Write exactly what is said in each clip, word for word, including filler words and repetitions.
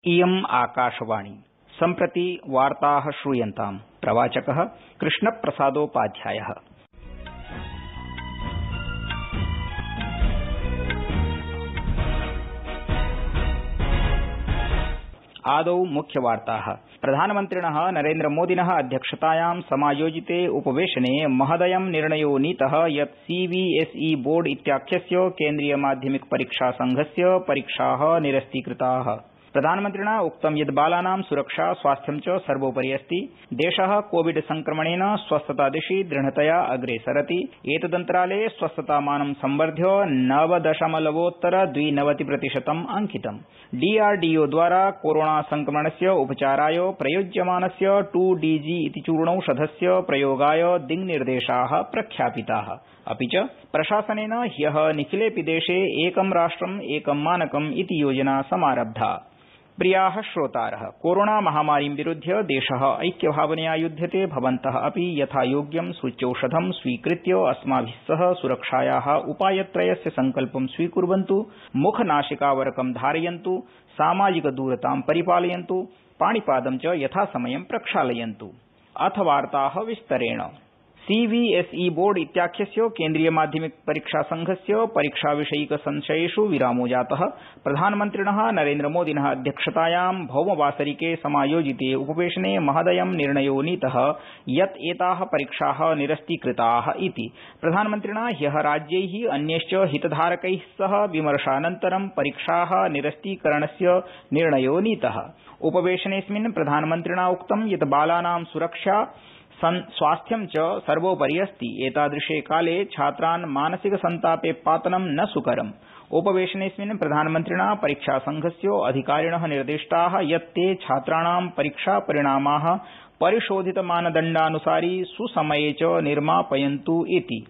इयम् आकाशवाणी सम्प्रति वार्ताः श्रूयन्ताम्। प्रवाचकः कृष्णप्रसादोपाध्यायः। आदौ मुख्यवार्ताः। प्रधानमन्त्रिणः नरेन्द्रमोदिनः अध्यक्षतायां समायोजिते उपवेशने महदयं निर्णयो नीतः यत् सीबीएसई बोर्ड इत्याख्यस्य केन्द्रीय माध्यमिक परीक्षा संघस्य परीक्षाः निरस्तीकृताः। प्रधानमन्त्रिणा उक्तं यत् बालानां सुरक्षा स्वास्थ्यं च सर्वोपरि अस्ति। देशः कोविड संक्रमणेन स्वस्थतादिशि दृढतया अग्रे सरति। एतदन्तराले स्वस्थतामानं संवर्ध्य नवदशमलवोत्तर द्विनवति प्रतिशतम् अंकितम्। डीआरडीओ द्वारा कोरोना संक्रमणस्य उपचाराय प्रयुज्यमानस्य टू डीजी इति चूर्णौषधस्य प्रयोगाय दिङ्निर्देशाः प्रख्यापिताः। अपि च प्रशासनेन ह्यः निखिलेऽपि देशे एकं राष्ट्रम् एकं मानकम् इति योजना समारब्धा। प्रियाः श्रोतारः, कोरोना महामारीं विरुध्य देशः ऐक्यभावनया युध्यते। भवन्तः अपि यथायोग्यं सूच्यौषधं स्वीकृत्य अस्माभिः सह सुरक्षायाः उपायत्रयस्य सङ्कल्पं स्वीकुर्वन्तु। मुखनासिकावरकं धारयन्तु, सामाजिकदूरतां परिपालयन्तु, पाणिपादं च यथासमयं प्रक्षालयन्तु। अथ वार्ताः विस्तरेण। सीबीएसई बोर्ड इत्याख्यस्य केन्द्रीय माध्यमिक परीक्षा संघस्य परीक्षाविषयिक संशयेषु विरामो जातः। प्रधानमन्त्रिणः नरेन्द्रमोदिनः अध्यक्षतायां भौमवासरिके समायोजिते उपवेशने महदयं निर्णयो नीतः यत् एताः परीक्षाः निरस्तीकृताः इति। प्रधानमन्त्रिणा ह्यः राज्यैः अन्यैश्च हितधारकैः सह विमर्शानन्तरं परीक्षाः निरस्तीकरणस्य निर्णयो नीतः। उपवेशनेऽस्मिन् प्रधानमन्त्रिणा उक्तं यत् बालानां सुरक्षा स्वास्थ्यं च सर्वोपरि अस्ति। एतादृशे काले छात्रान् मानसिक सन्तापे पातनं न सुकरम्। उपवेशनेऽस्मिन् प्रधानमन्त्रिणा परीक्षासंघस्य अधिकारिणः निर्दिष्टाः यत् ते छात्राणां परीक्षापरिणामाः परिशोधितमानदण्डानुसारि सुसमये च निर्मापयन्तु इति।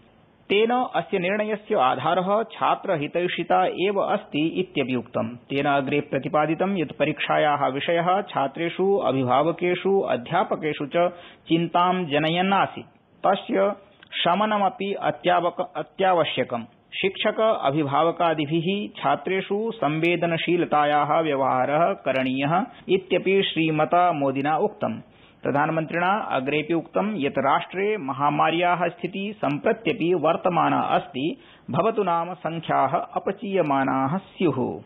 तेन अस्य निर्णयस्य आधारः छात्रहितैषिता एव अस्ति इत्यपि उक्तम्। तेन अग्रे प्रतिपादितं यत् परीक्षायाः विषयः छात्रेषु, अभिभावकेषु, अध्यापकेषु च चिन्तां जनयन् आसीत्। तस्य शमनमपि अत्यावश्यकम्। शिक्षक अभिभावकादिभिः छात्रेषु संवेदनशीलतायाः व्यवहारः करणीयः इत्यपि श्रीमता मोदिना उक्तम्। प्रधानमन्त्रिणा अग्रेपि उक्तं यत् राष्ट्रे महामार्याः स्थितिः सम्प्रत्यपि वर्तमाना अस्ति। भवतु नाम संख्याः अपचीयमानाः स्युः।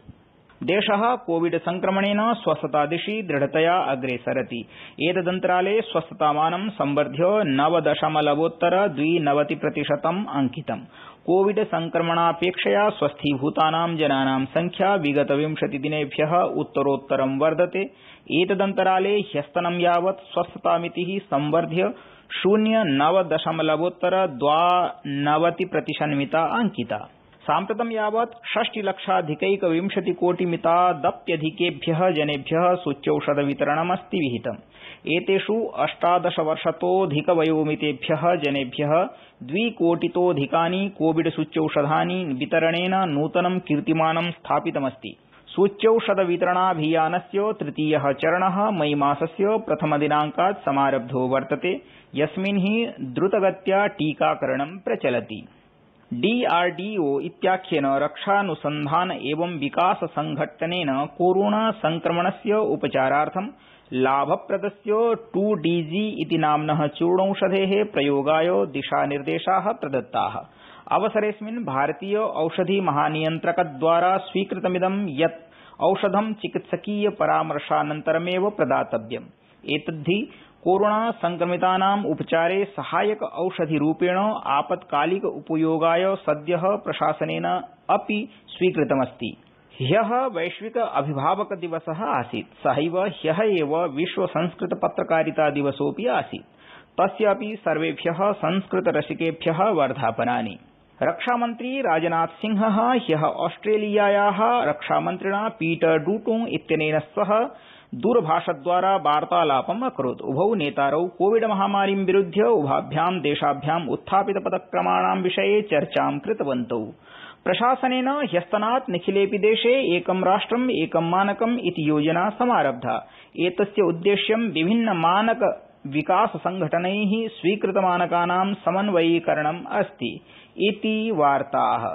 देशः कोविड संक्रमणेन स्वस्थतादिशि दृढतया अग्रे सरति। एतदन्तराले स्वस्थतामानं संवर्ध्य नवदशमलवोत्तर द्विनवति प्रतिशतम् अंकितम्। कोविड संक्रमणापेक्षया स्वस्थीभूतानां जनानां संख्या विगत विंशतिदिनेभ्यः उत्तरोत्तरं वर्धते। एतदन्तराले ह्यस्तनं यावत् स्वस्थतामितिः संवर्ध्य शून्य नव दशमलवोत्तर द्वानवति प्रतिशन्मिता अंकिता। साम्प्रतं यावत् षष्टिलक्षाधिकैकविंशतिकोटिमितादप्यधिकेभ्यः जनेभ्यः सूच्यौषधवितरणमस्ति विहितम्। एतेषु अष्टादशवर्षतोऽधिकवयोमितेभ्यः जनेभ्यः द्विकोटितोऽधिकानि कोविड सूच्यौषधानि वितरणेन नूतनं कीर्तिमानं स्थापितमस्ति। सूच्यौषधवितरणाभियानस्य तृतीयः चरणः मई मासस्य प्रथमदिनांकात् समारब्धो वर्तते, यस्मिन् हि द्रुतगत्या टीकाकरणं प्रचलति। डीआरडीओ इत्याख्येन रक्षानुसन्धान एवं विकास संघट्टनेन कोरोना संक्रमणस्य उपचारार्थं लाभप्रदस्य टू डीजी इति नाम्नः चूर्णौषधेः प्रयोगाय दिशानिर्देशाः प्रदत्ताः। अवसरेऽस्मिन् भारतीय औषधि महानियन्त्रकद्वारा स्वीकृतमिदं यत् औषधं चिकित्सकीय परामर्शानन्तरमेव प्रदातव्यम्। एतद्धि कोरोना संक्रमितानाम् उपचारे सहायक औषधिरूपेण आपत्कालिक उपयोगाय सद्यः प्रशासनेन अपि स्वीकृतमस्ति। ह्यः वैश्विक अभिभावक दिवसः आसीत्। सहैव ह्यः एव विश्व संस्कृत पत्रकारिता दिवसोऽपि आसीत्। तस्यापि सर्वेभ्यः संस्कृतरसिकेभ्यः वर्धापनानि। रक्षामन्त्री राजनाथ सिंहः ह्यः ऑस्ट्रेलियायाः रक्षामन्त्रिणा पीटर डूटोंग इत्यनेन सह दूरभाषद्वारा वार्तालापम् अकरोत्। उभौ नेतारौ कोविड महामारीं विरुध्य उभाभ्यां देशाभ्याम् उत्थापित पदक्रमाणां विषये चर्चां कृतवन्तौ। प्रशासनेन ह्यस्तनात् निखिलेऽपि देशे एकं राष्ट्रम् एकं मानकम् इति योजना समारब्धा। एतस्य उद्देश्यं विभिन्न मानक विकास संघटनैः स्वीकृतमानकानां समन्वयीकरणम् अस्ति इति वार्ताः।